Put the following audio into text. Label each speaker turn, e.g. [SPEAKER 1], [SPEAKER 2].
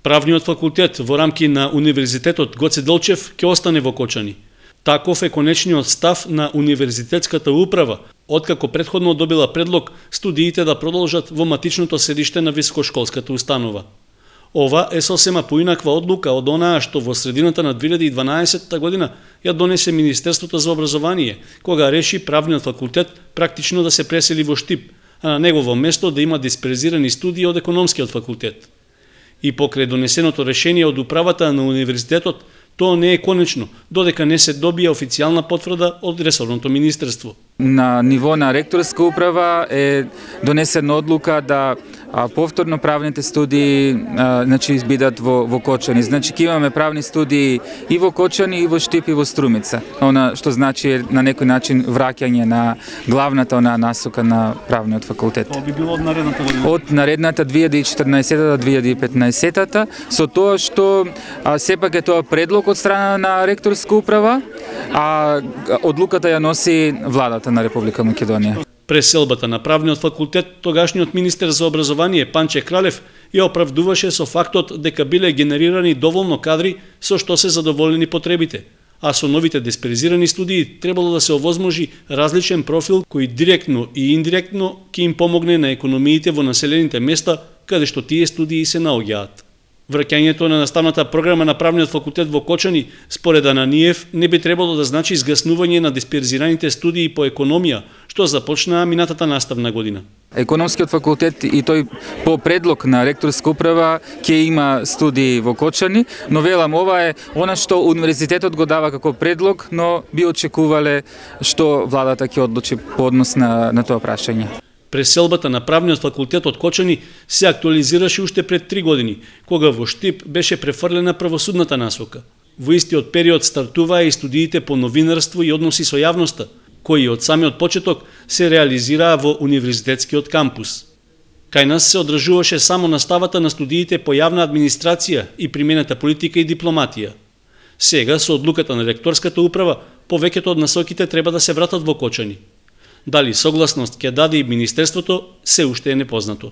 [SPEAKER 1] Правниот факултет во рамки на Универзитетот Гоце Делчев ќе остане во Кочани. Таков е конечниот став на Универзитетската управа, откако претходно добила предлог студиите да продолжат во матичното седиште на високошколската установа. Ова е сосема поинаква одлука од онаа што во средината на 2012 година ја донесе Министерството за образование, кога реши правниот факултет практично да се пресели во Штип, а на негово место да има дисперзирани студии од економскиот факултет. И покрај донесеното решение од управата на универзитетот, тоа не е конечно, додека не се добија официјална потврда од ресорното министерство.
[SPEAKER 2] На ниво на ректорска управа е донесена одлука да повторно правните студии бидат во Кочани. Значи ќе имаме правни студии и во Кочани, и во Штип, и во Струмица. Она што значи на некој начин враќање на главната насока на правниот факултет.
[SPEAKER 1] Тоа би било од наредната година.
[SPEAKER 2] Од наредната 2014 до 2015, со тоа што сепак е тоа предлог од страна на ректорска управа, а одлуката ја носи владата на Република Македонија.
[SPEAKER 1] Преселбата на правниот факултет, тогашниот министер за образование Панче Кралев ја оправдуваше со фактот дека биле генерирани доволно кадри со што се задоволени потребите, а со новите дисперзирани студии требало да се овозможи различен профил кој директно и индиректно ќе им помогне на економиите во населените места каде што тие студии се наоѓаат. Враќањето на наставната програма на правниот факултет во Кочани, според Ананиев, не би требало да значи изгаснување на дисперзираните студии по економија, што започнаа минатата наставна година.
[SPEAKER 2] Економскиот факултет и тој по предлог на ректорска управа ќе има студии во Кочани, но велам ова е она што универзитетот го дава како предлог, но би очекувале што владата ќе одлучи по однос на тоа прашање.
[SPEAKER 1] Преселбата на правниот факултет од Кочани се актуализираше уште пред 3 години, кога во Штип беше префрлена правосудната насока. Во истиот период стартуваа и студиите по новинарство и односи со јавноста, кои од самиот почеток се реализираа во универзитетскиот кампус. Кај нас се одржуваше само наставата на студиите по јавна администрација и примената политика и дипломатија. Сега, со одлуката на ректорската управа, повеќето од насоките треба да се вратат во Кочани. Дали согласност ќе даде и министерството, се уште е непознато.